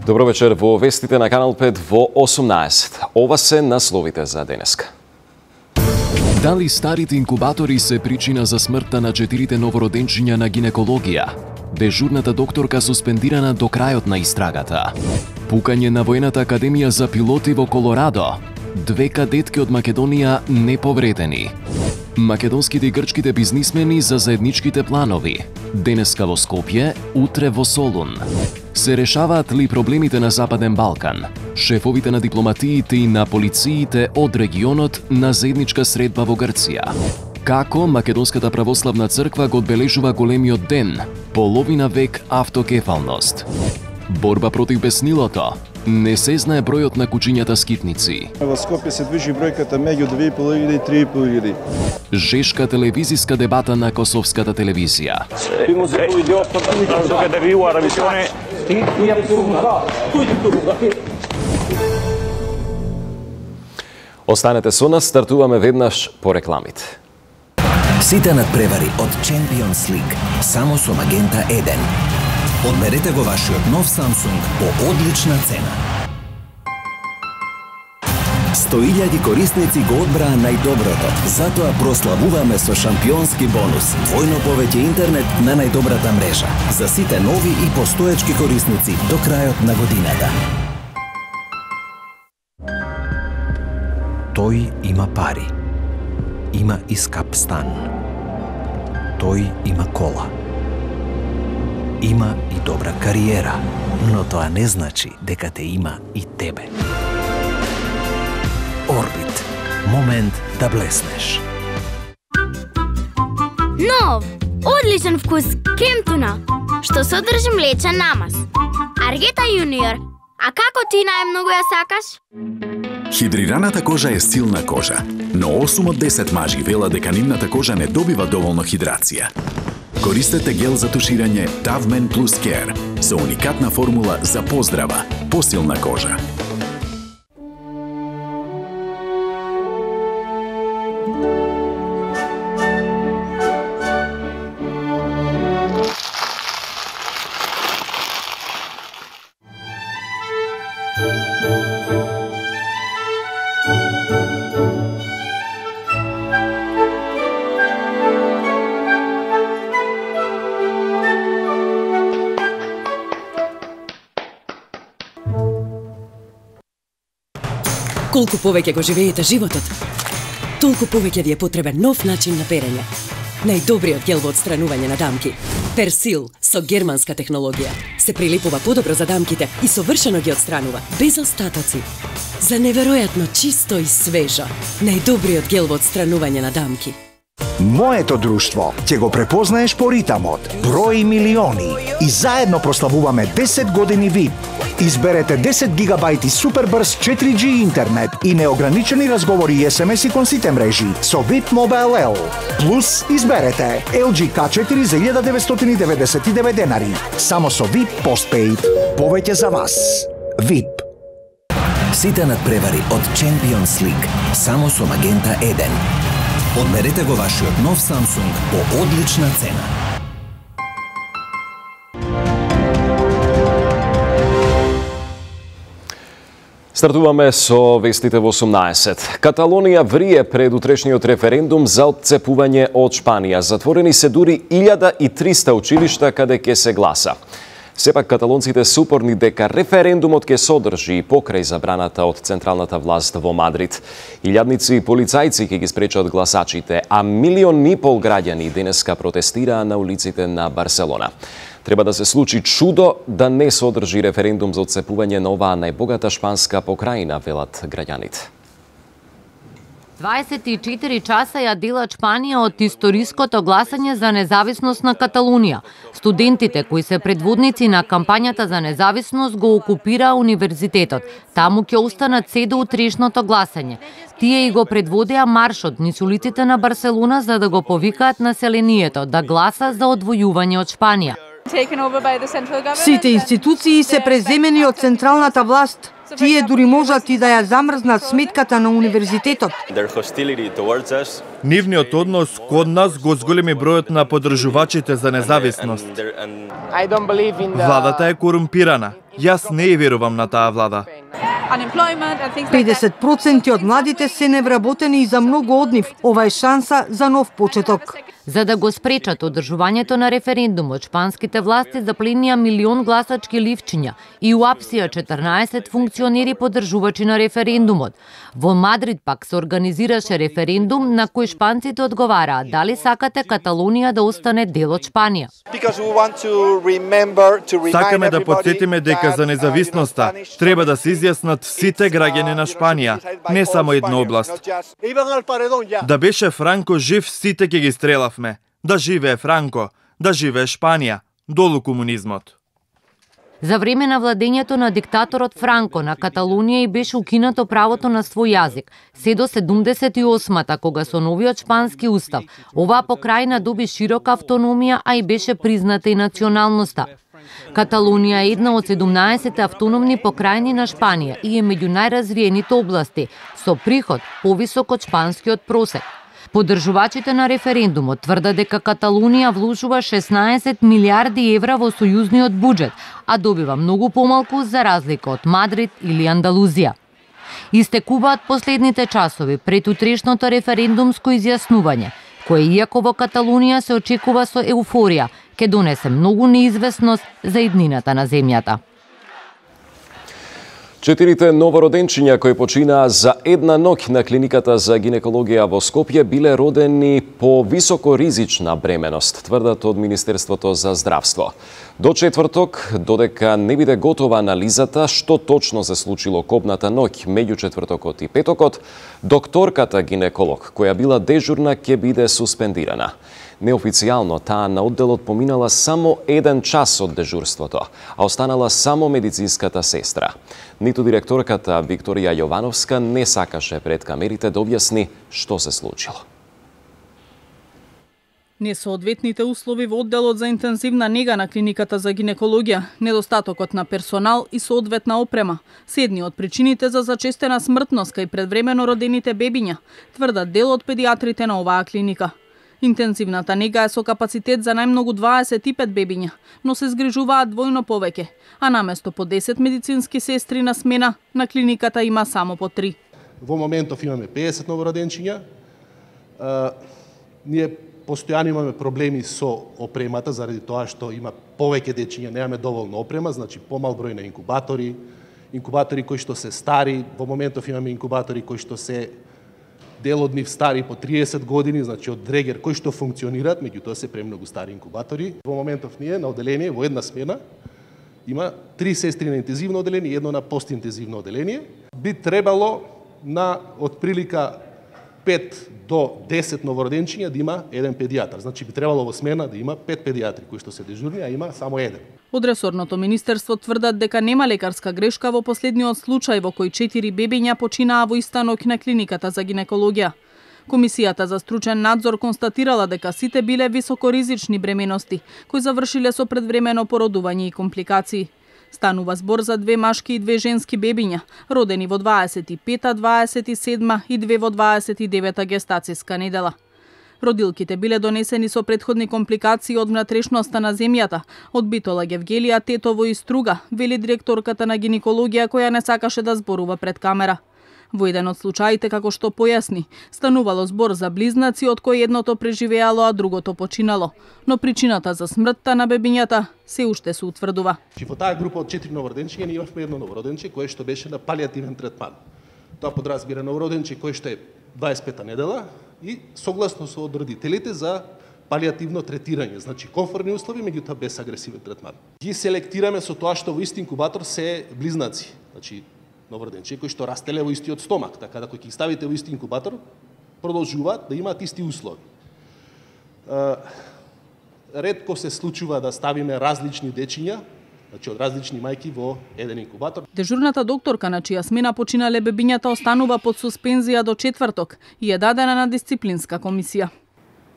Добро вечер во вестите на Канал 5 во 18. Ова се насловите за денеска. Дали старите инкубатори се причина за смртта на 4 новороденчиња на гинекологија? Дежурната докторка суспендирана до крајот на истрагата. Пукање на Воената академија за пилоти во Колорадо. 2 кадетки од Македонија неповредени. Македонските и грчките бизнисмени за заедничките планови. Денеска во Скопје, утре во Солун. Се решаваат ли проблемите на Западен Балкан? Шефовите на дипломатиите и на полициите од регионот на заедничка средба во Грција. Како Македонската православна црква го одбележува големиот ден, половина век автокефалност. Борба против беснилото. Не се знае бројот на кучињата скитници. Во Скопје се движи бројката меѓу 2.500 и 3.500. Жешка телевизиска дебата на Косовската телевизија. Останете со нас, стартуваме веднаш по рекламите. Сите надпревари од Champions League само со Magenta 1. Одберете го вашиот нов Samsung по одлична цена. 100.000 корисници го одбраа најдоброто, затоа прославуваме со шампионски бонус. Двојно повеќе интернет на најдобрата мрежа. За сите нови и постоечки корисници до крајот на годината. Тој има пари. Има и скап стан. Тој има кола. Има и добра кариера, но тоа не значи дека те има и тебе. Орбит. Момент да блеснеш. Нов, одличен вкус кемтуна, што содржи млечен намаз. Аргета Јуниор, а како ти најмногу ја сакаш? Хидрираната кожа е силна кожа, но 8 од 10 мажи велат дека нивната кожа не добива доволно хидрација. Користете гел за туширање Тавмен Plus Care со уникатна формула за поздрава, посилна кожа. Колку повеќе го живеете животот, толку повеќе ви е потребен нов начин на перење. Најдобриот гел во отстранување на дамки. Персил со германска технологија. Се прилипува подобро за дамките и совршено ги отстранува, без остатоци. За неверојатно чисто и свежо. Најдобриот гел во отстранување на дамки. Моето друштво ќе го препознаеш по ритамот. Брои милиони и заедно прославуваме 10 години VIP. Изберете 10 гигабајти супербрз 4G интернет и неограничени разговори и SMS-и кон сите мрежи со VIP Mobile L. Плюс изберете LG K4 за 1999 денари. Само со VIP Postpaid. Повеќе за вас. VIP. Сите надпревари од Champions League само со Magenta 1. Одберете го вашиот нов Samsung по одлична цена. Стартуваме со вестите во 18. Каталонија врие пред утрешниот референдум за отцепување од Шпанија. Затворени се дури 1300 училишта каде ќе се гласа. Сепак каталонците се упорни дека референдумот ќе содржи и покрај забраната од централната власт во Мадрид. Илјадници полицајци ќе ги спречат гласачите, а 1,5 милиони граѓани денеска протестираа на улиците на Барселона. Треба да се случи чудо да не содржи референдум за отцепување на оваа најбогата шпанска покрајина, велат граѓаните. 24 часа ја делат Шпанија од историското гласање за независност на Каталунија. Студентите кои се предводници на кампањата за независност го окупираа универзитетот. Таму ќе останат се до утрешното гласање. Тие и го предводеа маршот низ улиците на Барселона за да го повикаат населението да гласа за одвојување од Шпанија. Сите институции се преземени од централната власт. Тие дури можат и да ја замрзнат сметката на универзитетот. Нивниот однос код нас го зголеми бројот на поддржувачите за независност. Владата е корумпирана. Јас не ја верувам на таа влада. 50% од младите се невработени и за многу од нив ова е шанса за нов почеток. За да го спречат одржувањето на референдумот, шпанските власти запленија 1 милион гласачки ливчиња и уапсија 14 функционери поддржувачи на референдумот. Во Мадрид пак се организираше референдум на кој шпанците одговараа дали сакате Каталонија да остане дел од Шпанија. Сакаме да потсетиме дека за независноста треба да се изјаснат сите граѓани на Шпанија, не само една област. Да беше Франко жив, сите ќе ги стрелавме. Да живее Франко, да живее Шпанија, долу комунизмот. За време на владењето на диктаторот Франко на Каталонија и беше укинато правото на свој јазик, се до 78-та, кога со новиот шпански устав оваа покрајна доби широка автономија, а и беше призната и националноста. Каталонија е една од 17 автономни покрајни на Шпанија и е меѓу најразвиените области, со приход повисок од шпанскиот просек. Поддржувачите на референдумот тврдат дека Каталонија вложува 16 милиарди евра во сојузниот буџет, а добива многу помалку за разлика од Мадрид или Андалузија. Истекуваат последните часови пред утрешното референдумско изјаснување, кое иако во Каталонија се очекува со еуфорија, ќе донесе многу неизвестност за иднината на земјата. 4 новороденчиња кои починаа за една ноќ на клиниката за гинекологија во Скопје биле родени по високоризична бременост, тврдат од Министерството за здравство. До четврток, додека не биде готова анализата што точно се случило копната ноќ меѓу четвртокот и петокот, докторката гинеколог која била дежурна ќе биде суспендирана. Неофицијално таа на одделот поминала само 1 час од дежурството, а останала само медицинската сестра. Ниту директорката Викторија Јовановска не сакаше пред камерите да објасни што се случило. Несоодветните услови во одделот за интензивна нега на клиниката за гинекологија, недостатокот на персонал и соодветна опрема се едни од причините за зачестена смртност кај предвремено родените бебиња, тврдат дел од педиатрите на оваа клиника. Интензивната нега е со капацитет за најмногу 25 бебиња, но се згрижуваат двојно повеќе, а наместо по 10 медицински сестри на смена, на клиниката има само по 3. Во моментов имаме 50 новороденчиња. Ние постојано имаме проблеми со опремата, заради тоа што има повеќе дечиња, немаме доволно опрема, значи помал број на инкубатори кои што се стари. Во моментов имаме инкубатори кои што се дел од нив стари по 30 години, значи од дрегер кои што функционираат, меѓутоа се премногу стари инкубатори. Во моментов ние на оделение во една смена има 3 сестри на интензивно оделение и едно на постинтензивно оделение. Би требало на отприлика 5 до 10 новороденчиња да има еден педијатар. Значи би требало во смена да има 5 педијатри кои што се дежурни, а има само еден. Од ресорното министерство тврдат дека нема лекарска грешка во последниот случај во кој 4 бебиња починаа во иста ноќ на клиниката за гинекологија. Комисијата за стручен надзор констатирала дека сите биле високоризични бременности, кои завршиле со предвремено породување и компликации. Станува збор за 2 машки и 2 женски бебиња, родени во 25-та, 27-та и 2 во 29-та гестацијска недела. Родилките биле донесени со претходни компликации од внатрешноста на земјата, од битола Гевгелија, тетово и струга, вели директорката на гинекологија која не сакаше да зборува пред камера. Во еден од случаите, како што појасни, станувало збор за близнаци од кои едното преживеало, а другото починало. Но причината за смртта на бебињата се уште се утврдува. Во таа група од 4 новороденчиња ние имавме едно новороденче кое што беше на палијативен третман. Тоа подразбира новороденче кој што е 25-та недела и согласно со од родителите за палијативно третирање, значи комфортни услови, меѓутоа без агресивен третман. Ги селектираме со тоа што во ист инкубатор се близнаци, значи новороденче кои што растеле во истиот стомак, така да кога ги ставите во ист инкубатор, продолжуваат да имаат исти услови. Ретко се случува да ставиме различни дечиња, значи од различни мајки во еден инкубатор. Дежурната докторка на чија смена починале бебињата останува под суспензија до четврток и е дадена на дисциплинска комисија.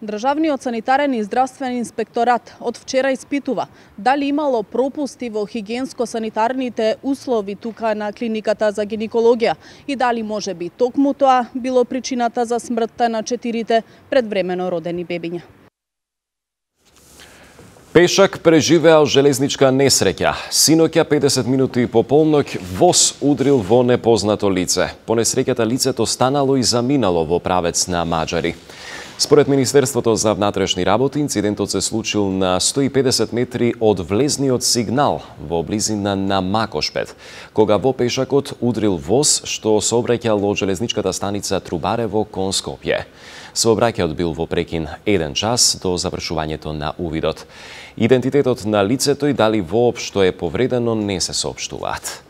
Државниот санитарен и здравствен инспекторат од вчера испитува дали имало пропусти во хигиенско-санитарните услови тука на клиниката за гинекологија и дали може би токму тоа било причината за смртта на 4 предвремено родени бебиња. Пешак преживеал железничка несреќа. Синоќа 50 минути по полноќ воз удрил во непознато лице. По несреќата лицето станало и заминало во правец на Маџари. Според Министерството за внатрешни работи, инцидентот се случил на 150 метри од влезниот сигнал во близина на Макошпет, кога во пешакот удрил воз што сообраќал од железничката станица Трубарево кон Скопје. Сообраќајот бил во прекин 1 час до завршувањето на увидот. Идентитетот на лицето и дали воопшто е повредено не се соопштуваат.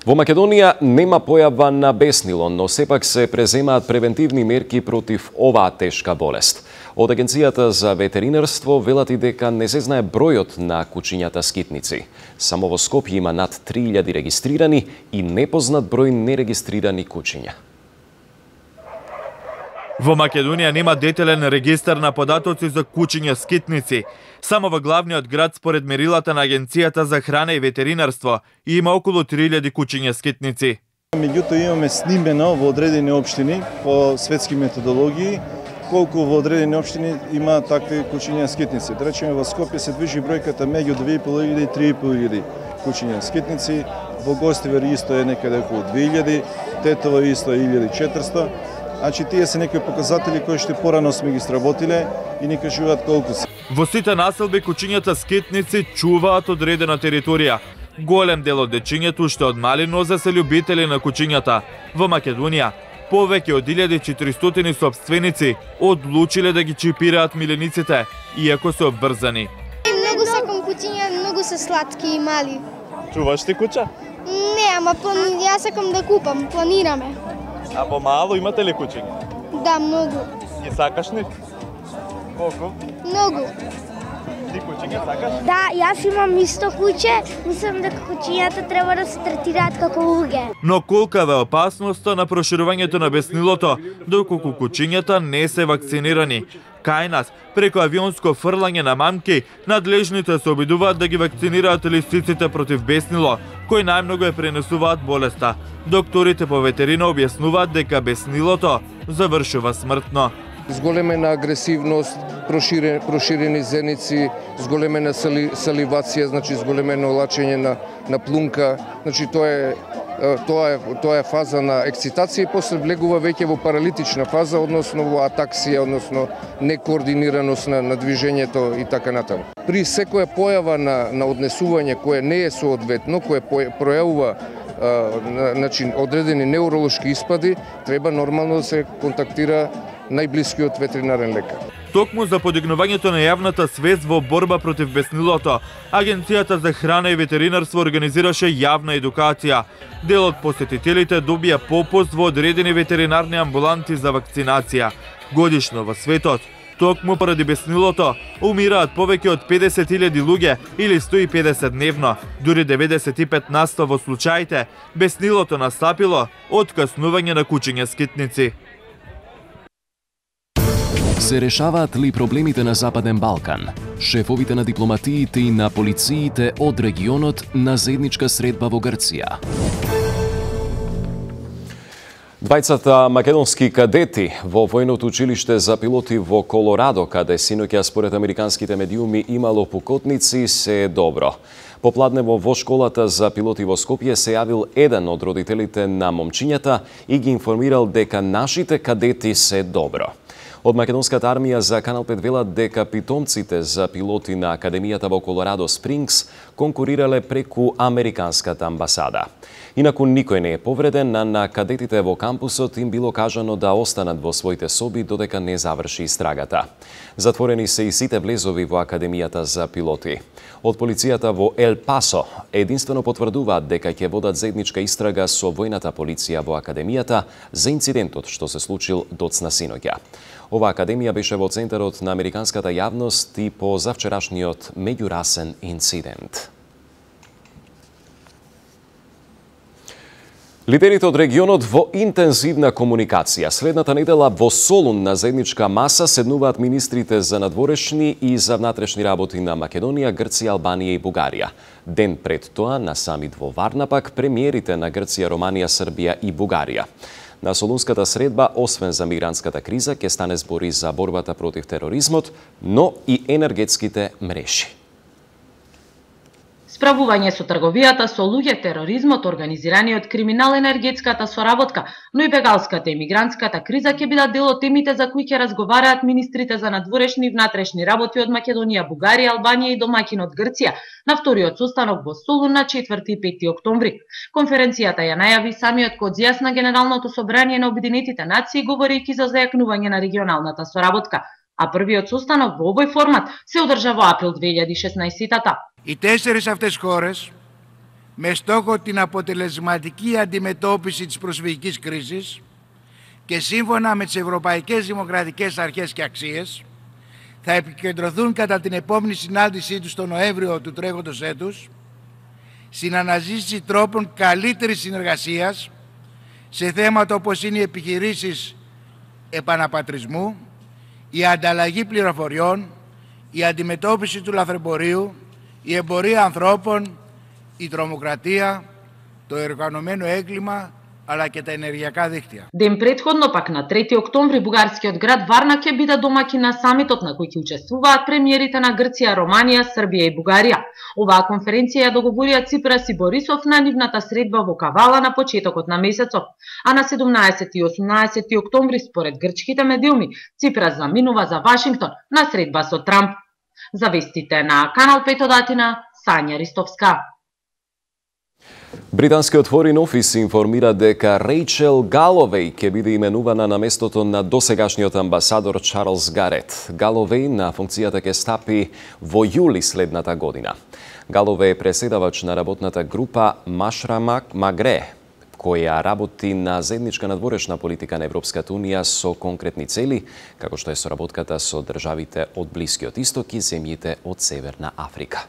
Во Македонија нема појава на беснило, но сепак се преземаат превентивни мерки против оваа тешка болест. Од Агенцијата за ветеринарство велат и дека не се знае бројот на кучињата скитници. Само во Скопје има над 3000 регистрирани и непознат број нерегистрирани кучиња. Во Македонија нема детелен регистар на податоци за кучиња скитници. Само во главниот град според мерилата на Агенцијата за храна и ветеринарство има околу 3000 кучиња скитници. Меѓутоа имаме снимено во одредени општини по светски методологии колку во одредени општини има такви кучиња скитници. Да речеме во Скопје се движи бројката меѓу 2500 и 3500 кучиња скитници, во Гостивар исто е некаде околу 2000, Тетово исто е 1400. Значи, тие се некои показатели кои што порано сме ги сработиле и ни кажуваат колку се. Во сите населби кучињата скитници чуваат одредена територија. Голем дел од дечињето што од мали нозе се љубители на кучињата. Во Македонија повеќе од 1400 сопственици одлучиле да ги чипираат милениците, иако се обврзани. Многу сакам кучиња, многу се сладки и мали. Чуваш ти куча? Не, ама јас сакам да купам, планираме. А во мало имате ли кучиња? Да, многу. Ги сакаш ли? Колку? Многу. Ти кучиња сакаш? Да, јас имам исто куче. Мислам дека кучињата треба да се третираат како луѓе. Но колкава е опасноста на проширувањето на беснилото, доколку кучињата не се вакцинирани. Кај нас, преку авионско фрлање на мамки, надлежните се обидуваат да ги вакцинираат лисиците против беснило, кои најмногу ја пренесуваат болеста. Докторите по ветерина објаснуваат дека беснилото завршува смртно. Зголемена агресивност, проширени зеници, зголемена саливација, значи зголемено лачење на плунка, значи тоа е фаза на ексцитација и после влегува веќе во паралитична фаза, односно во атаксија, односно некоординираност на движењето и така натаму. При секоја појава на однесување кое не е соодветно, кое пројавува одредени неуролошки испади, треба нормално да се контактира најблискиот ветеринарен лекар. Токму за подигнувањето на јавната свест во борба против беснилото, Агенцијата за храна и ветеринарство организираше јавна едукација. Дел од посетителите добија попуст во одредени ветеринарни амбуланти за вакцинација. Годишно во светот, токму поради беснилото, умираат повеќе од 50.000 луѓе или 150 дневно. Дури 95% во случаите, беснилото настапило од каснување на кучиња скитници. Се решаваат ли проблемите на Западен Балкан? Шефовите на дипломатиите и на полициите од регионот на заедничка средба во Грција. Двајцата македонски кадети во војното училиште за пилоти во Колорадо, каде синоќа според американските медиуми имало пукотници, се е добро. Попладнево во школата за пилоти во Скопје се јавил еден од родителите на момчињата и ги информирал дека нашите кадети се добро. Од македонската армија за Канал 5 велат дека питомците за пилоти на Академијата во Колорадо Спрингс конкурирале преку американската амбасада. Инаку никој не е повреден, на кадетите во кампусот им било кажано да останат во своите соби додека не заврши истрагата. Затворени се и сите влезови во Академијата за пилоти. Од полицијата во Ел Пасо единствено потврдуваат дека ќе водат заедничка истрага со војната полиција во Академијата за инцидентот што се случил доцна синоќа. Ова академија беше во центарот на американската јавност и по завчерашниот меѓурасен инцидент. Лидерите од регионот во интензивна комуникација. Следната недела во Солун на заедничка маса седнуваат министрите за надворешни и за внатрешни работи на Македонија, Грција, Албанија и Бугарија. Ден пред тоа на самит во Варна пак премиерите на Грција, Романија, Србија и Бугарија. На Солунската средба, освен за мигрантската криза, ќе стане збори за борбата против тероризмот, но и енергетските мрежи. Справување со трговијата со луѓе, тероризмот, организираниот криминал, енергетската соработка, но и бегалската и мигрантската криза ќе бидат дел од темите за кои ќе разговараат министрите за надворешни и внатрешни работи од Македонија, Бугарија, Албанија и домаќинот Грција на вториот состанок во Солун на 4 и 5 октомври. Конференцијата ја најави самиот Кодзијас на Генералното собрание на Обединетите нации, говорејќи за зајакнување на регионалната соработка. А првиот состанок во овој формат се одржа во април 2016-та. Οι 4 αυτές χώρες, με στόχο την αποτελεσματική αντιμετώπιση της προσφυγικής κρίσης και σύμφωνα με τις ευρωπαϊκές δημοκρατικές αρχές και αξίες, θα επικεντρωθούν κατά την επόμενη συνάντησή τους τον Νοέμβριο του τρέχοντος έτους στην αναζήτηση τρόπων καλύτερης συνεργασίας σε θέματα όπως είναι οι επιχειρήσεις επαναπατρισμού, η ανταλλαγή πληροφοριών, η αντιμετώπιση του λαθρεμπορίου, η εμπορία ανθρώπων, η τρομοκρατία, το οργανωμένο έγκλημα, αλλά και τα ενεργειακά δίκτυα. Ден претходно пак на 3 октомври бугарскиот град Варна ќе биде домаќин на самитот на кој ќе учествуваат премиерите на Грција, Романија, Србија и Бугарија. Оваа конференција ја договорија Ципрас и Борисов на нивната средба во Кавала на почетокот на месецот, а на 17 и 18 октомври според грчките медиуми Ципрас заминува за Вашингтон на средба со Трамп. За вестите на Канал 5 од Атина, Сања Ристовска. Британскиот Foreign Office информира дека Рейчел Галовеј ќе биде именувана на местото на досегашниот амбасадор Чарлс Гарет. Галовеј на функцијата ќе стапи во јули следната година. Галовеј е преседавач на работната група Машрамак Магре, која работи на заедничка надворешна политика на Европската Унија со конкретни цели, како што е соработката со државите од Блискиот Исток и земјите од Северна Африка.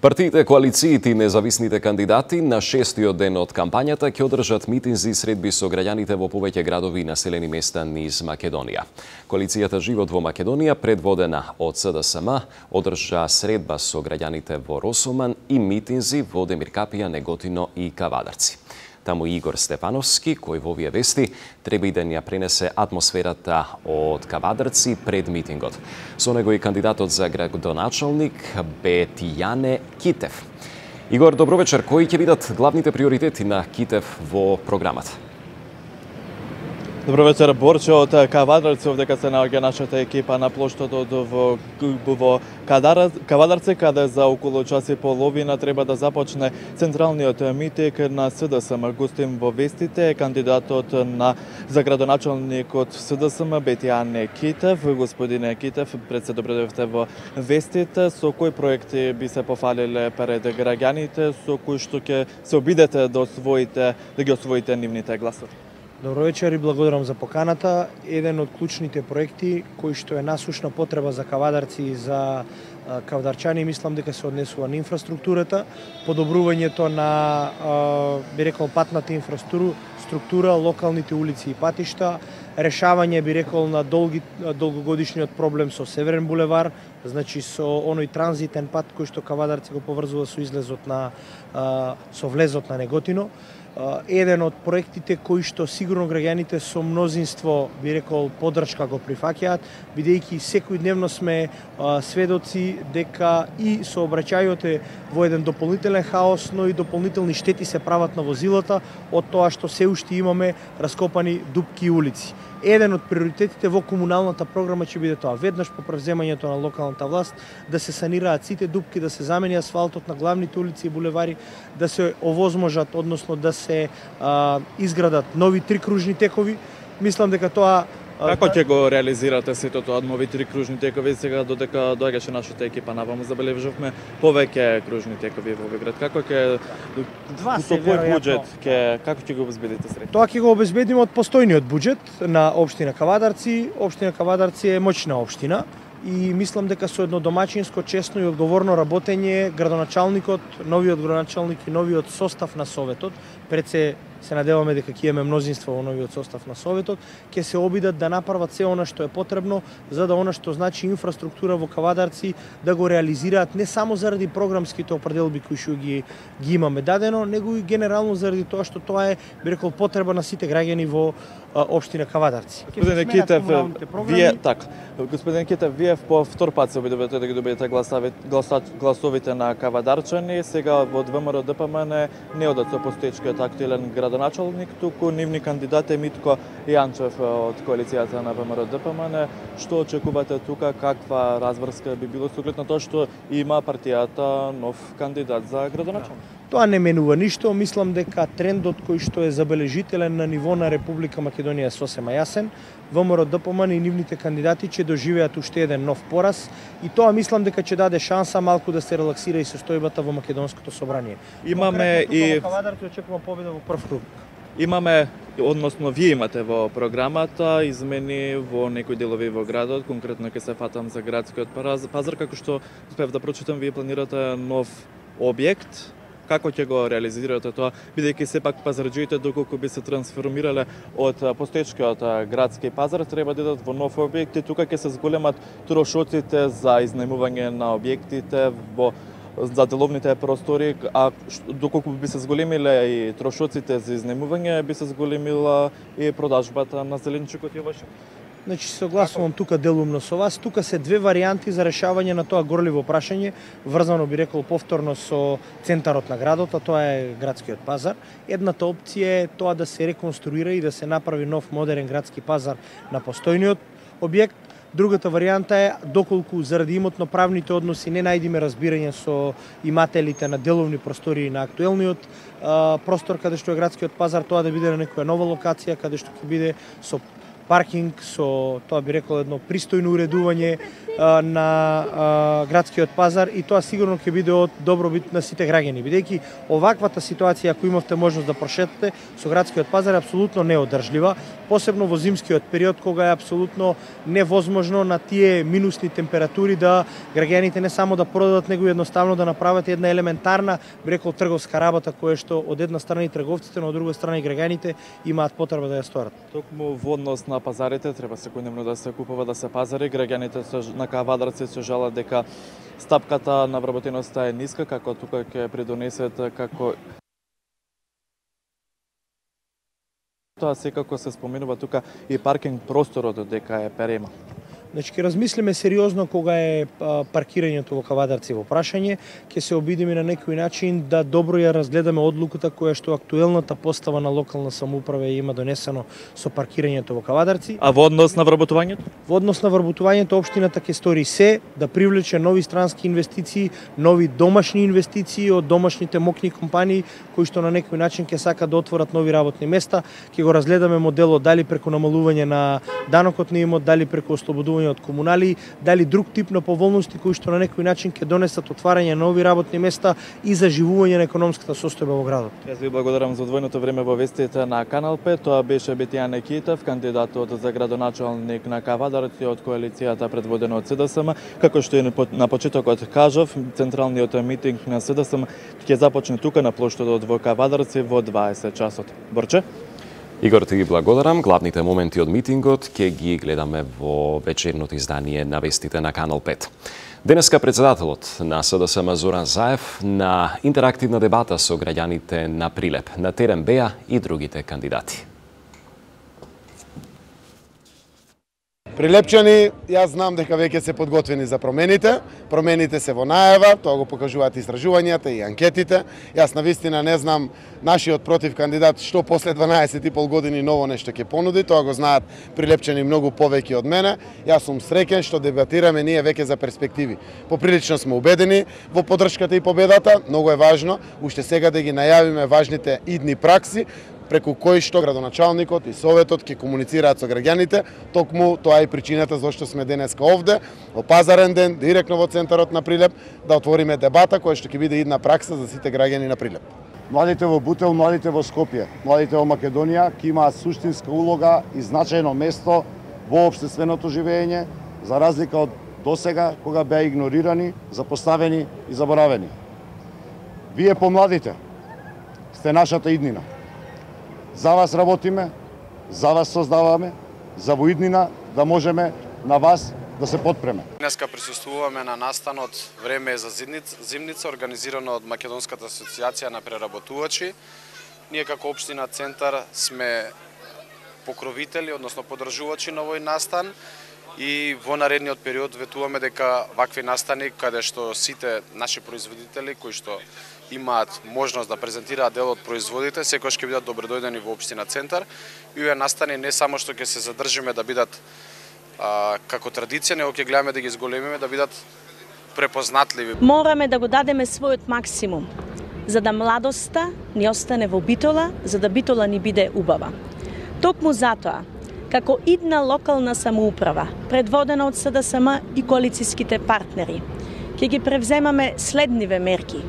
Партиите, коалициите и независните кандидати на 6-тиот ден од кампањата ќе одржат митинзи и средби со граѓаните во повеќе градови и населени места низ Македонија. Коалицијата Живот во Македонија, предводена од СДСМ, одржа средба со граѓаните во Росоман и митинзи во Демиркапија, Неготино и Кавадарци. Таму Игор Стефановски, кој во овие вести треба и да ја пренесе атмосферата од Кавадарци пред митингот. Со него и кандидатот за градоначалник Бетијане Китев. Игор, добро вечер. Кои ќе бидат главните приоритети на Китев во програмата? Добро вечер, Борче од Кавадарци, овдека се наоѓа нашата екипа на плоштадот во Кавадарци, каде за околу час и половина треба да започне централниот митинг на СДСМ. Гостин во вестите кандидатот за градоначалник од СДСМ Бетијане Китев. Господине Китев, пред се добредовте во вестите, со кои проекти би се пофалиле пред граѓаните, со кои што ќе се обидете да ги освоите нивните гласови? Добро вечер и благодарам за поканата. Еден од клучните проекти кој што е насушна потреба за Кавадарци и за кавадарчани, мислам дека се однесува на инфраструктурата, подобрувањето на би рекол патната инфраструктура, локалните улици и патишта, решавање би рекол на долгогодишниот проблем со Северен булевар, значи со оној транзитен пат кој што Кавадарци го поврзува со со влезот на Неготино. Еден од проектите кои што сигурно граѓаните со мнозинство, би рекол, поддршка го прифаќаат, бидејќи секојдневно сме сведоци дека и сообраќајот е во еден дополнителен хаос, но и дополнителни штети се прават на возилата од тоа што се уште имаме раскопани дупки и улици. Еден од приоритетите во комуналната програма ќе биде тоа. Веднаш по превземањето на локалната власт да се санираат сите дупки, да се замени асфалтот на главните улици и булевари, да се овозможат, односно да се изградат нови 3 кружни текови. Мислам дека тоа Како ќе го реализирате сето тоа, нови 3 кружни текови? Сега додека доаѓаше нашата екипа наваму, забележавме повеќе кружни текови во Беград. Како ќе со кој буџет како ќе го обезбедите средства? Тоа ќе го обезбедиме од постојниот буџет на општина Кавадарци. Општина Кавадарци е моćна општина и мислам дека со едно домаќинско, честно и одговорно работење градоначалникот, новиот градоначалник и новиот состав на советот, пред се се надеваме дека ќе имаме мнозинство во новиот состав на Советот, ќе се обидат да направат се она што е потребно за да она што значи инфраструктура во Кавадарци да го реализираат не само заради програмските определби кои што ги имаме дадено, него и генерално заради тоа што тоа е, би рекол, потреба на сите граѓани во општина Кавадарци. Господин Китев, вие по втор пат се обидувате да ги добиете гласовите на кавадарчани. Сега во ВМРО ДПМН не одат со постоечкиот актуелен градоначалник, туку нивни кандидат е Митко Јанчев од коалицијата на ВМРО ДПМН. Што очекувате тука, каква разврска би било со оглед на тоа што има партијата нов кандидат за градоначалник? Тоа не менува ништо, мислам дека трендот кој што е забележителен на ниво на Република Македонија е сосема јасен. ВМРО ДПМН и нивните кандидати ќе доживеат уште еден нов пораз и тоа мислам дека ќе даде шанса малку да се релаксира и состојбата во македонското собрание. Имаме и во Кавадарци очекувам победа во прв круг. Имаме, односно вие имате во програмата измени во некои делови во градот, конкретно ќе се фатам за градскиот пазар, како што успев да прочитам, вие планирате нов објект. Како ќе го реализирате тоа, бидејќи сепак пазарџиите доколку би се трансформирале од постоечкиот градски пазар, треба да идат во нов објект и тука ќе се зголемат трошоците за изнајмување на објектите за деловните простори, а доколку би се зголемиле и трошоците за изнајмување, би се зголемила и продажбата на зеленчукот и овошје. Значи, согласувам тука делумно со вас. Тука се две варијанти за решавање на тоа горливо прашање, врзано би рекол повторно со центарот на градот, а тоа е градскиот пазар. Едната опција е тоа да се реконструира и да се направи нов модерен градски пазар на постојниот објект. Другата варијанта е, доколку заради имотно-правните односи не најдиме разбирање со имателите на деловни простори на актуелниот простор каде што е градскиот пазар, тоа да биде на некоја нова локација, каде што ќе биде со паркинг, со тоа би рекол едно пристојно уредување на градскиот пазар и тоа сигурно ќе биде од добробит на сите граѓани, бидејќи оваквата ситуација ако имавте можност да прошетате со градскиот пазар е апсолутно неодржлива, посебно во зимскиот период кога е апсолутно невозможно на тие минусни температури да граѓаните не само да продадат, него едноставно да направат една елементарна, би рекол, трговска работа која што од една страна и трговците, но од друга страна и граѓаните имаат потреба да ја сторат. Токму во однос на пазарите треба секојдневно да се купува, да се пазари, граѓаните на Кавадарци се жалат дека стапката на вработеноста е ниска, како тука ќе придонесет како тоа секако се споменува тука и паркинг просторот дека е перема. Значи, ќе размислиме сериозно кога е паркирањето во Кавадарци во прашање, ќе се обидиме на некој начин да добро ја разгледаме одлуката која што актуелната постава на локална самоуправа има донесено со паркирањето во Кавадарци. А во однос на вработувањето? Во однос на вработувањето општината ќе стори се да привлече нови странски инвестиции, нови домашни инвестиции од домашните мокни компании кои што на некој начин ќе сакат да отворат нови работни места. Ќе го разгледаме моделот дали преку намалување на данокот на имот, дали преку ослободување од комунали, дали друг тип на поволности кои што на некој начин ќе донесат отварање на нови работни места и заживување на економската состојба во градот. Јас ви благодарам за одвоеното време во вестите на Канал 5. Тоа беше Бетијане Китев, кандидатот за градоначалник на Кавадарци од коалицијата предводена од СДСМ. Како што и на почетокот кажав, централниот митинг на СДСМ ќе започне тука на плоштадот во Кавадарци во 20 часот. Борче? Игор, ти ги благодарам. Главните моменти од митингот ќе ги гледаме во вечерното издание на вестите на Канал 5. Денеска председателот на СДСМ Зоран Заев на интерактивна дебата со граѓаните на Прилеп. На терен беа и другите кандидати. Прилепчани, јас знам дека веќе се подготвени за промените. Промените се во најава, тоа го покажуваат истражувањата и анкетите. Јас навистина не знам нашиот против кандидат што после 12,5 години ново нешто ќе понуди, тоа го знаат прилепчани многу повеќе од мене. Јас сум среќен што дебатираме ние веќе за перспективи. Поприлично сме убедени во поддршката и победата, многу е важно уште сега да ги најавиме важните идни пракси преку кои што градоначалникот и советот ќе комуницираат со граѓаните. Токму тоа е причината зашто сме денеска овде, во пазарен ден, директно во центарот на Прилеп, да отвориме дебата која што ќе биде идна пракса за сите граѓани на Прилеп. Младите во Бутел, младите во Скопје, младите во Македонија ќе имаат суштинска улога и значајно место во општественото живење, за разлика од досега кога беа игнорирани, запоставени и заборавени. Вие помладите сте нашата иднина. За вас работиме, за вас создаваме, за во иднина да можеме на вас да се подпреме. Днеска присуствуваме на настанот Време е за зимница, организирано од Македонската асоциација на преработувачи. Ние како општина Центар сме покровители, односно подржувачи на овој настан и во наредниот период ветуваме дека вакви настани каде што сите наши производители кои што имаат можност да презентираат дел од производите, секогаш ќе бидат добродојдени во општина Центар. И овие настани не само што ќе се задржиме да бидат како традиција, него ќе гледаме да ги зголемиме, да бидат препознатливи. Мораме да го дадеме својот максимум, за да младоста ни остане во Битола, за да Битола ни биде убава. Токму затоа, како идна локална самоуправа, предводена од СДСМ и коалицијските партнери, ќе ги превземаме следниве мерки.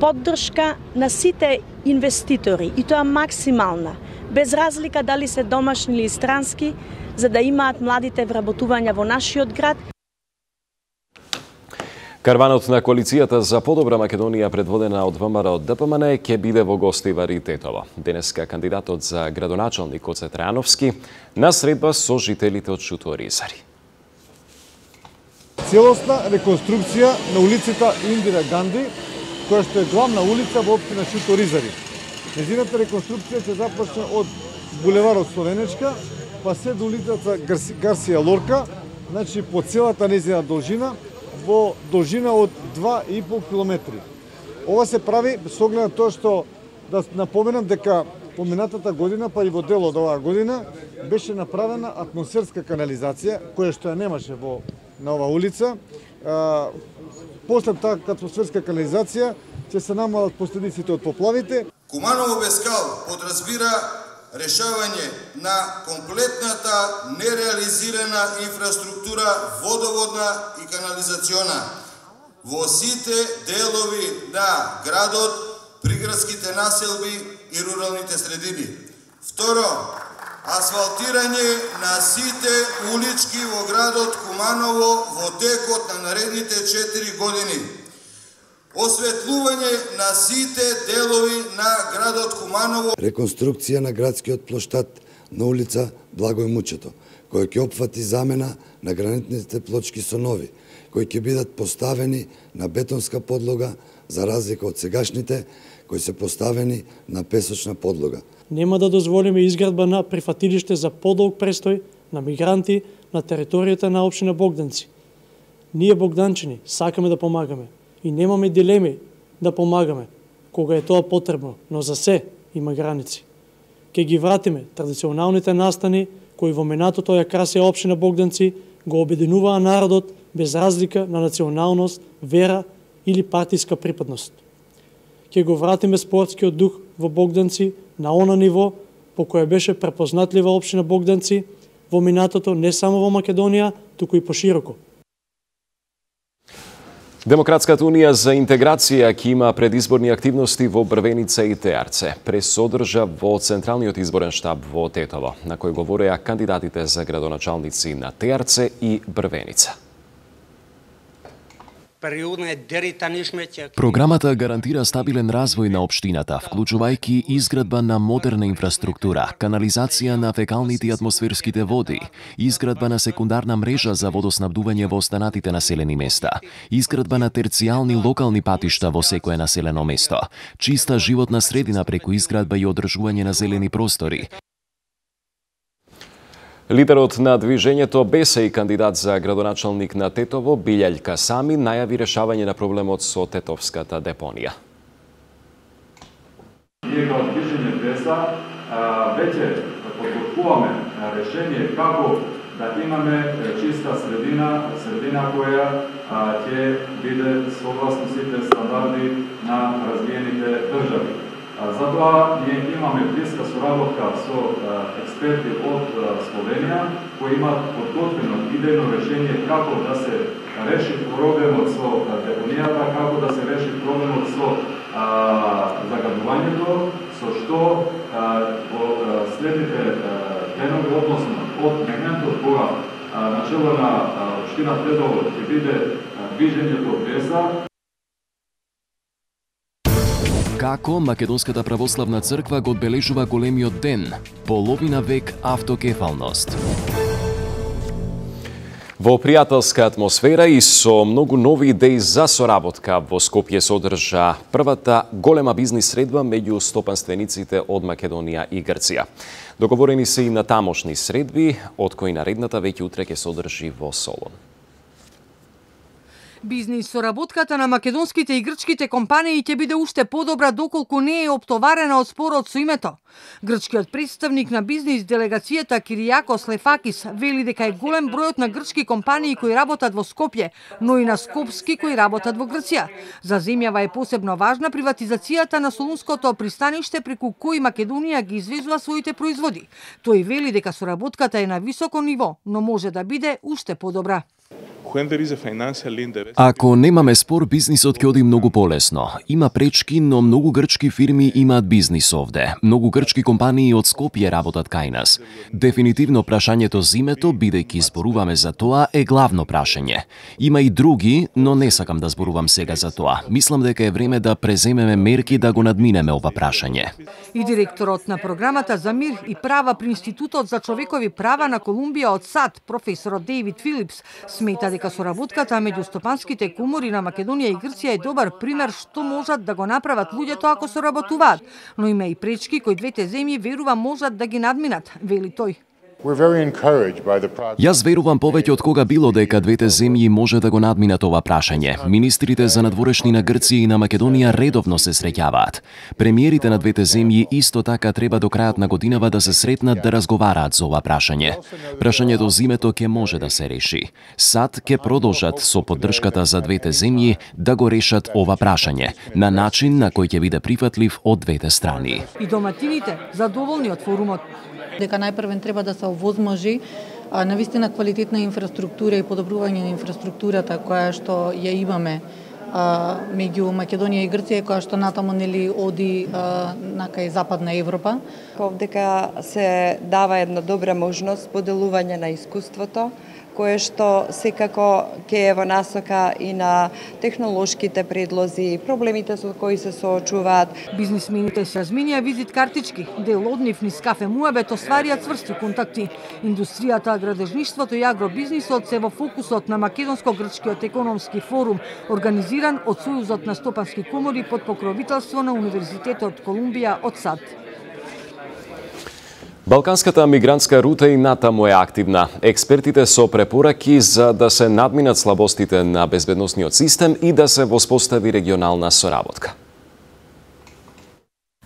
Поддршка на сите инвеститори, и тоа максимална, без разлика дали се домашни или странски, за да имаат младите вработувања во нашиот град. Карванот на коалицијата за подобра Македонија, предводена од ВМРО ДПМН, ќе биде во гости во Тетово. Денеска кандидатот за градоначалник Гоце Трајановски на средба со жителите од Шуто Оризари. Целосна реконструкција на улицата Индира Ганди, која што е главна улица во општина Шуто Оризари. Незината реконструкција ќе започне од булеварот Словенечка, па се до улицата Гарсија Лорка, значи по целата незина должина, во должина од 2,5 километри. Ова се прави со оглед на тоа што, да напоменам дека поминатата година, па и во дел од оваа година, беше направена атмосферска канализација, која што ја немаше на оваа улица. После таа атмосферска канализација ќе се намалат последиците од поплавите. Куманово без кал подразбира решавање на комплетната нереализирана инфраструктура водоводна и канализациона во сите делови на градот, приградските населби и руралните средини. Второ, асфалтирање на сите улички во градот Куманово во текот на наредните 4 години. Осветлување на сите делови на градот Куманово. Реконструкција на градскиот плоштад на улица Благој Мучето, која ќе опфати замена на гранитните плочки со нови, кои ќе бидат поставени на бетонска подлога, за разлика од сегашните, кои се поставени на песочна подлога. Нема да дозволиме изградба на прифатилиште за подолг престој на мигранти на територијата на општина Богданци. Ние богданчани сакаме да помагаме и немаме дилеми да помагаме кога е тоа потребно, но за се има граници. Ке ги вратиме традиционалните настани кои во минатото ја красија општина Богданци, го обединуваа народот без разлика на националност, вера или партиска припадност. Ке го вратиме спортскиот дух во Богданци на она ниво по кое беше препознатлива општина Богданци во минатото не само во Македонија, туку и пошироко. Демократската унија за интеграција ќе има предизборни активности во Брвеница и Теарце. Пресодржа во Централниот изборен штаб во Тетово, на кој говореа кандидатите за градоначалници на Теарце и Брвеница. Програмата гарантира стабилен развој на општината, вклучувајќи изградба на модерна инфраструктура, канализација на фекалните и атмосферските води, изградба на секундарна мрежа за водоснабдување во останатите населени места, изградба на терцијални локални патишта во секое населено место, чиста животна средина преку изградба и одржување на зелени простори. Лидерот на движењето БЕС и кандидат за градоначалник на Тетово, Билјај Касами, најави решавање на проблемот со тетовската депонија. Ние како движење БЕС-а веќе подготвуваме решение како да имаме чиста средина која ќе биде согласно сите стандарди на развиените држави. Затоа ние имаме блиска соработка со експерти од Словенија кои имаат подготвено идејно решение како да се реши проблемот со депонијата, како да се реши проблемот со загадувањето, со што во следните пленови, односно од моментот кога начело на општина Тетово ќе биде движењето БЕС-а. Како Македонската православна црква го одбележува големиот ден, половина век автокефалност. Во пријателска атмосфера и со многу нови идеи за соработка во Скопје се одржа првата голема бизнис средба меѓу стопанствениците од Македонија и Грција. Договорени се и на тамошни средби, од кои наредната веќе утре ќе се одржи во Солон. Бизнис соработката на македонските и грчките компании ќе биде уште подобра доколку не е оптоварена од спорот со името. Грчкиот представник на бизнис делегацијата Киријакос Лефакис вели дека е голем бројот на грчки компании кои работат во Скопје, но и на скопски кои работат во Грција. За земјава е посебно важна приватизацијата на Солунското пристаниште преку кои Македонија ги извезува своите производи. Тој вели дека соработката е на високо ниво, но може да биде уште подобра. Ако немаме спор, бизнисот ќе оди многу полесно. Има пречки, но многу грчки фирми имаат бизнис овде. Многу грчки компании од Скопје работат кај нас. Дефинитивно прашањето за името, бидејќи зборуваме за тоа, е главно прашање. Има и други, но не сакам да зборувам сега за тоа. Мислам дека е време да преземеме мерки да го надминеме ова прашање. И директорот на програмата за мир и права при Институтот за човекови права на Колумбија од САД, професорот Дејвид Филипс, смета дека соработката меѓу стопанските комори на Македонија и Грција е добар пример што можат да го направат луѓето ако соработуваат, но има и пречки кои двете земји верува можат да ги надминат, вели тој. Јас верувам повеќе од кога било дека двете земји може да го надминат ова прашање. Министрите за надворешни на Грција и на Македонија редовно се среќаваат. Премиерите на двете земји исто така треба до крајот на годинава да се сретнат да разговараат за ова прашање. Прашањето за името ќе може да се реши. САД ќе продолжат со поддршката за двете земји да го решат ова прашање на начин на кој ќе биде прифатлив од двете страни. И доматините задоволни од форумот. Дека најпрвен треба да се овозможи навистина квалитетна инфраструктура и подобрување на инфраструктурата која што ја имаме меѓу Македонија и Грција, која што натаму нели оди на кај Западна Европа. Дека се дава една добра можност поделување на искуството, кое што секако ќе е во насока и на технолошките предлози, проблемите со кои се соочуваат. Бизнисмените се разменија визит картички, дел од нив низ кафе муабет остварија цврсти контакти. Индустријата, градежништвото и агробизнисот се во фокусот на Македонско-грчкиот економски форум, организиран од Сојузот на стопански комори под покровителство на Универзитетот Колумбија од САД. Балканската мигрантска рута и натаму е активна. Експертите со препораки за да се надминат слабостите на безбедносниот систем и да се воспостави регионална соработка.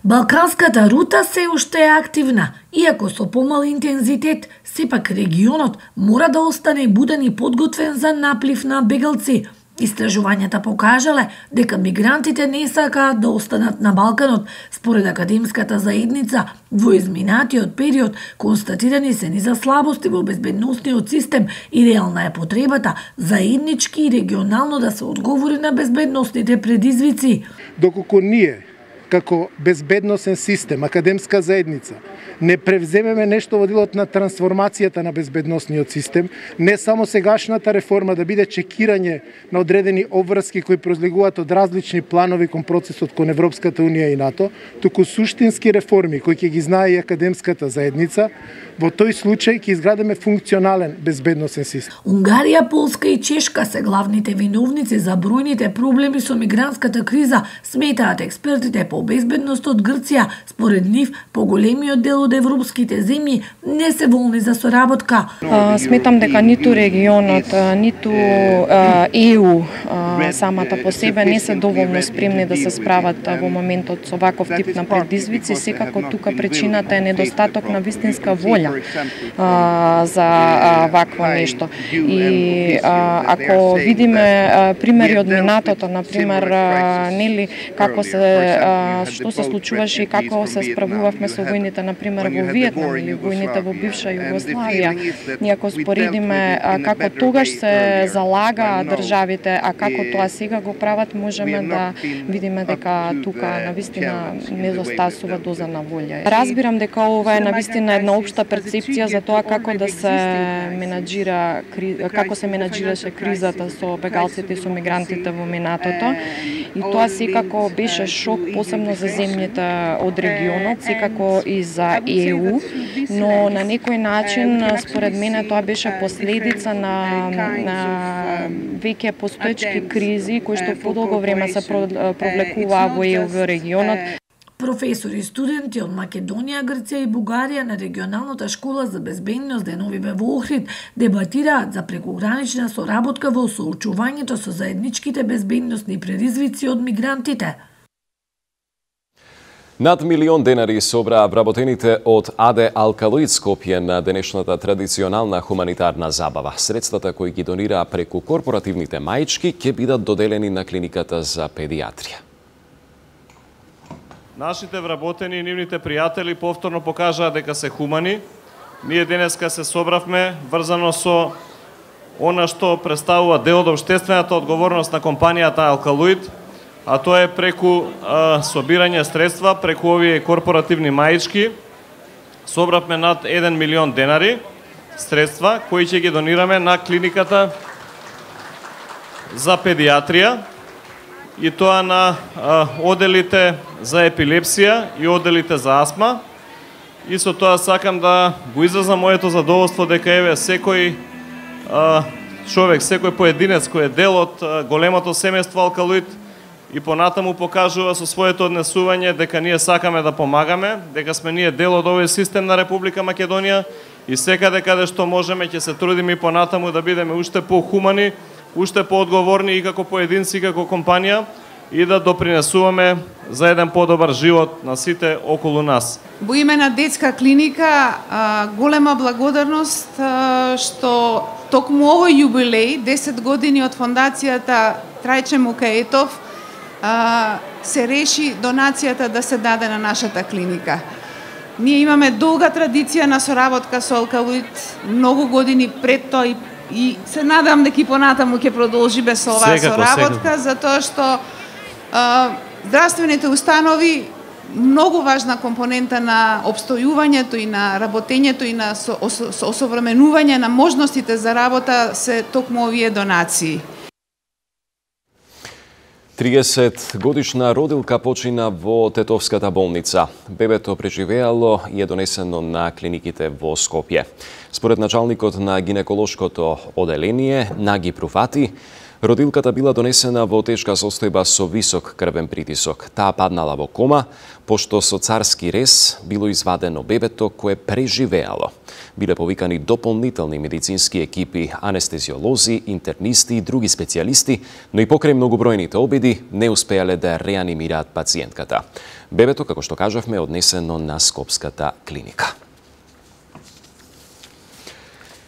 Балканската рута се уште е активна, иако со помал интензитет, сепак регионот мора да остане буден и подготвен за наплив на бегалци. Истражувањата покажале дека мигрантите не сакаат да останат на Балканот. Според академската заедница, во изминатиот период констатирани се низа слабости во безбедносниот систем и реална е потребата заеднички и регионално да се одговори на безбедносните предизвици. Доколку ние како безбедносен систем, академска заедница, не превземеме нешто во делот на трансформацијата на безбедносниот систем, не само сегашната реформа да биде чекирање на одредени обврски кои произлегуваат од различни планови кон процесот кон Европската Унија и НАТО, туку суштински реформи кои ќе ги знае и академската заедница, во тој случај ќе изградиме функционален безбедносен систем. Унгарија, Полска и Чешка се главните виновници за бројните проблеми со мигрантската криза, сметаат експертите по безбедност од Грција. Според нив, поголемиот дел од европските земји не се волни за соработка. Сметам дека ниту регионот, ниту ЕУ самата по себе не се доволно спремни да се справат во моментот со ваков тип на предизвици. Секако тука причината е недостаток на вистинска волја за вакво нешто. И ако видиме примери од минатото, например, нели како што се случуваше и како се справувавме со војните, например, например во Виетнам или војните во бивша Југославија, ние ако споредиме како тогаш се залага државите, а како тоа сега го прават, можеме да видиме дека тука навистина недостасува доза на волја. Разбирам дека ова е навистина една општа перцепција за тоа како да се менаџира, како се менаџираше кризата со бегалците и со мигрантите во минатото. И тоа секако беше шок, посебно за земјите од регионот, секако и за ЕУ, но на некој начин, според мене, тоа беше последица на веќе постоечки кризи кои што подолго време се провлекуваа во ЕУ во регионот. Професори и студенти од Македонија, Грција и Бугарија на регионалната школа за безбедност Деновиве во Охрид дебатираат за прекогранична соработка во соочувањето со заедничките безбедносни предизвици од мигрантите. Над милион денари собраа вработените од АД Алкалоид Скопје на денешната традиционална хуманитарна забава. Средствата кои ги донираа преку корпоративните маички ќе бидат доделени на клиниката за педиатрија. Нашите вработени и нивните пријатели повторно покажаа дека се хумани. Ние денеска се собравме врзано со она што представува дел од општествената одговорност на компанијата Алкалоид, а тоа е преку собирање средства, преку овие корпоративни маички. Собравме над 1 милион денари средства кои ќе ги донираме на клиниката за педиатрија, и тоа на оделите за епилепсија и оделите за астма. И со тоа сакам да го изразам моето задоволство дека еве секој човек, секој поединец кој е дел од големото семејство Алкалоид и понатаму покажува со своето однесување дека ние сакаме да помагаме, дека сме ние дел од овој систем на Република Македонија и секаде каде што можеме ќе се трудиме и понатаму да бидеме уште похумани, уште поодговорни и како поединци и како компанија и да допринесуваме за еден подобар живот на сите околу нас. Во име на детска клиника голема благодарност што токму овој јубилеј, 10 години од фондацијата Трајче Мукаетов, се реши донацијата да се даде на нашата клиника. Ние имаме долга традиција на соработка со Алкалоид, многу години пред тоа и се надам дека и понатаму ќе продолжиме со оваа соработка, затоа што здравствените установи многу важна компонента на обстојувањето и на работењето и на осовременување на можностите за работа се токму овие донации. 30-годишна родилка почина во Тетовската болница. Бебето преживеало и е донесено на клиниките во Скопје. Според началникот на гинеколошкото оделение, Наги Пруфати, родилката била донесена во тешка состојба со висок крвен притисок. Таа паднала во кома, пошто со царски рез било извадено бебето кое преживеало. Биле повикани дополнителни медицински екипи, анестезиолози, интернисти и други специјалисти, но и покрај многобројните обиди не успеале да реанимираат пациентката. Бебето, како што кажавме, е однесено на Скопската клиника.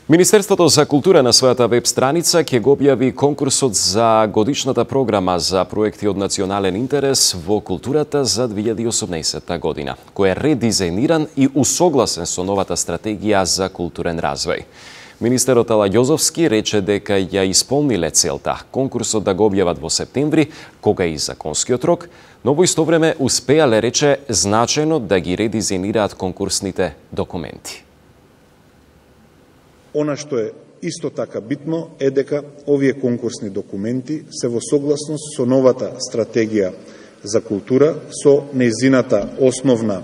Министерството за култура на својата веб страница ќе го објави конкурсот за годишната програма за проекти од национален интерес во културата за 2018 година, кој е редизајниран и усогласен со новата стратегија за културен развој. Министерот Ала Јозовски рече дека ја исполниле целта конкурсот да го објават во септември, кога и законскиот рок, но во исто време успеале, рече, значајно да ги редизајнираат конкурсните документи. Она што е исто така битно е дека овие конкурсни документи се во согласност со новата стратегија за култура, со нејзината основна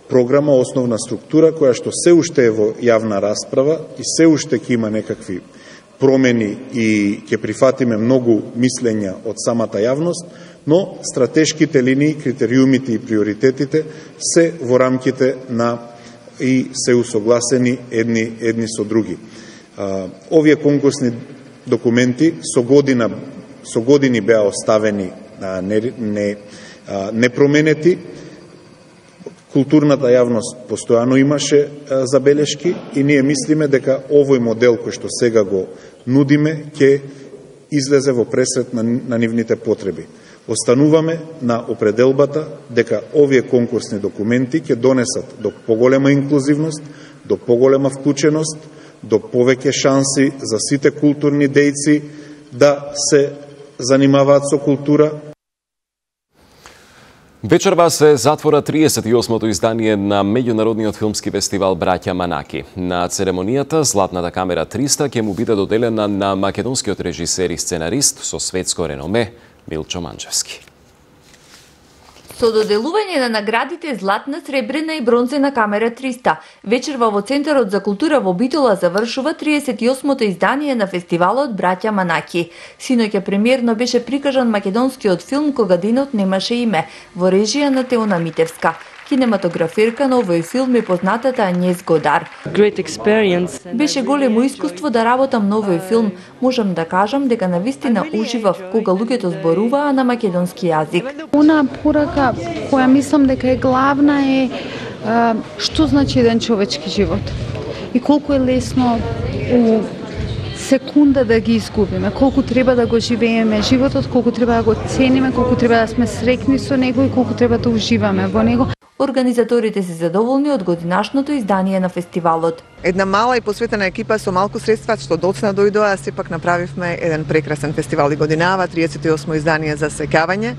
програма, основна структура, која што се уште е во јавна расправа и се уште ќе има некакви промени и ќе прифатиме многу мислења од самата јавност, но стратешките линии, критериумите и приоритетите се во рамките на и се усогласени едни со други. Овие конкурсни документи со години беа оставени непроменети. Културната јавност постојано имаше забелешки и ние мислиме дека овој модел кој што сега го нудиме ќе излезе во пресрет на нивните потреби. Остануваме на определбата дека овие конкурсни документи ќе донесат до поголема инклузивност, до поголема вклученост, до повеќе шанси за сите културни дејци да се занимаваат со култура. Вечерва се затвора 38-то издание на меѓународниот филмски фестивал Браќа Манаки. На церемонијата Златната камера 300 ќе му биде доделена на македонскиот режисер и сценарист со светско реноме Милчо Манчевски. Со доделување на наградите Златна, Сребрена и Бронзена камера 300, вечерва во Центарот за култура во Битола завршува 38-то издание на фестивалот Браќа Манаки. Синоќа премиерно беше прикажан македонскиот филм Кога денот немаше име, во режија на Теона Митевска. Кинематограферка на овој филм е познатата Ањез Годар. Беше големо искуство да работам на овој филм. Можам да кажам дека навистина уживав кога луѓето зборуваа на македонски јазик. Она порака која мислам дека е главна е што значи еден човечки живот и колку е лесно у секунда да ги изгубиме, колку треба да го живееме животот, колку треба да го цениме, колку треба да сме среќни со него и колку треба да уживаме во него. Организаторите се задоволни од годинашното издание на фестивалот. Една мала и посветена екипа со малку средства што доцна дојдоа, сепак направивме еден прекрасен фестивал и годинава, 38 издание за сеќавање.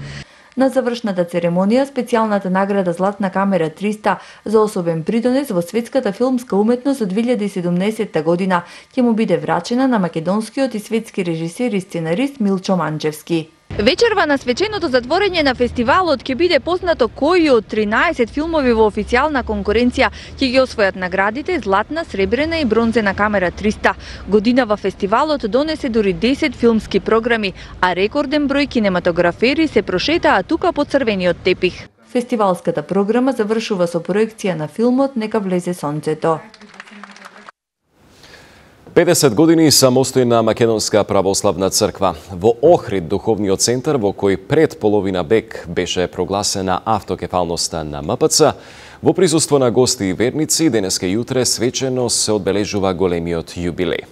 На завршната церемонија, специјалната награда Златна камера 300 за особен придонес во светската филмска уметност од 2017 година ќе му биде врачена на македонскиот и светски режисер и сценарист Милчо Манчевски. Вечерва на свеченото затворење на фестивалот ќе биде познато кои од 13 филмови во официјална конкуренција ќе ги освојат наградите Златна, Сребрена и Бронзена камера 300. Годинава фестивалот донесе дури 10 филмски програми, а рекорден број кинематографери се прошетаа тука по црвениот тепих. Фестивалската програма завршува со проекција на филмот Нека влезе сонцето. 50 години самостојна македонска православна црква. Во Охрид, духовниот центар во кој пред половина век беше прогласена автокефалноста на МПЦ, во присуство на гости и верници, денеска и утре свечено се одбележува големиот јубилеј.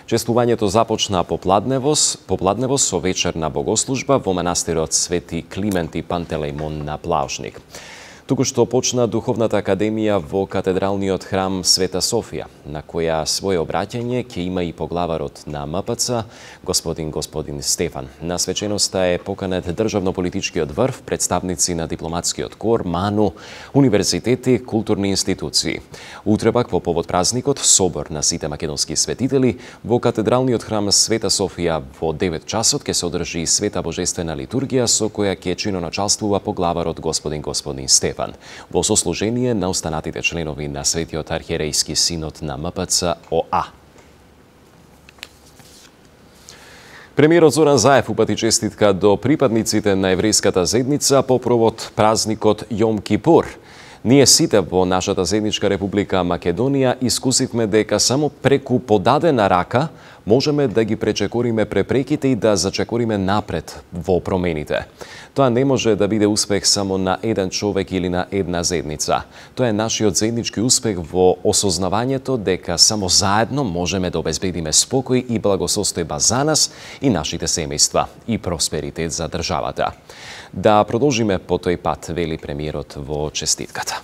Чествувањето започна попладнево со вечерна богослужба во манастирот Свети Климент и Пантелеймон на Плаушник. Туку што почна Духовната академија во катедралниот храм Света Софија, на која своје обраќање ќе има и поглаварот на МПЦ, господин Стефан. На свеченоста е поканет државно-политичкиот врв, представници на дипломатскиот кор, МАНУ, универзитети, културни институции. Утре пак во повод празникот собор на сите македонски светители во катедралниот храм Света Софија во 9 часот ќе се одржи света божествена литургија со која ќе чиноначалствува поглаварот господин Стефан во сослужение на останатите членови на Светиот архиерејски синод на МПЦ ОА. Премиерот Зоран Заев упати честитка до припадниците на еврејската заедница по повод празникот Јом Кипур. Ние сите во нашата заедничка Република Македонија искусивме дека само преку подадена рака можеме да ги пречекориме препреките и да зачекориме напред во промените. Тоа не може да биде успех само на еден човек или на една заедница. Тоа е нашиот заеднички успех во осознавањето дека само заедно можеме да обезбедиме спокој и благосостојба за нас и нашите семејства и просперитет за државата. Да продолжиме по тој пат, вели премиерот во честитката.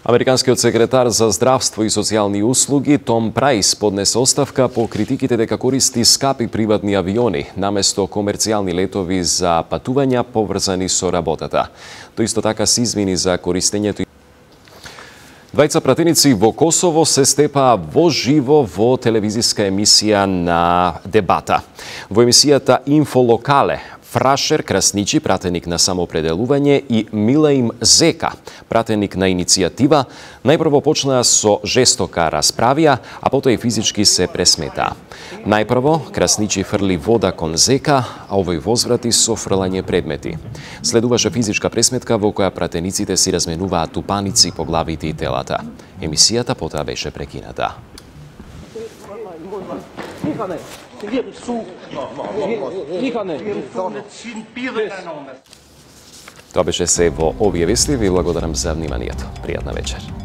Американскиот секретар за здравство и социјални услуги Том Прајс поднесе оставка по критиките дека користи скапи приватни авиони наместо комерцијални летови за патувања поврзани со работата. Тој исто така се извини за користењето. Двајца пратеници во Косово се степаа во живо во телевизиска емисија на Дебата. Во емисијата Инфолокале, Фрашер Красничи, пратеник на самоопределување, и Милаим Зека, пратеник на иницијатива, најпрво почнаа со жестока расправија, а потоа и физички се пресметаа. Најпрво, Красничи фрли вода кон Зека, а овој возврати со фрлање предмети. Следуваше физичка пресметка во која пратениците си разменуваат тупаници по главите и телата. Емисијата потоа беше прекината. Тоа беше се во овие вести. Ви благодарам за вниманието. Пријатна вечер.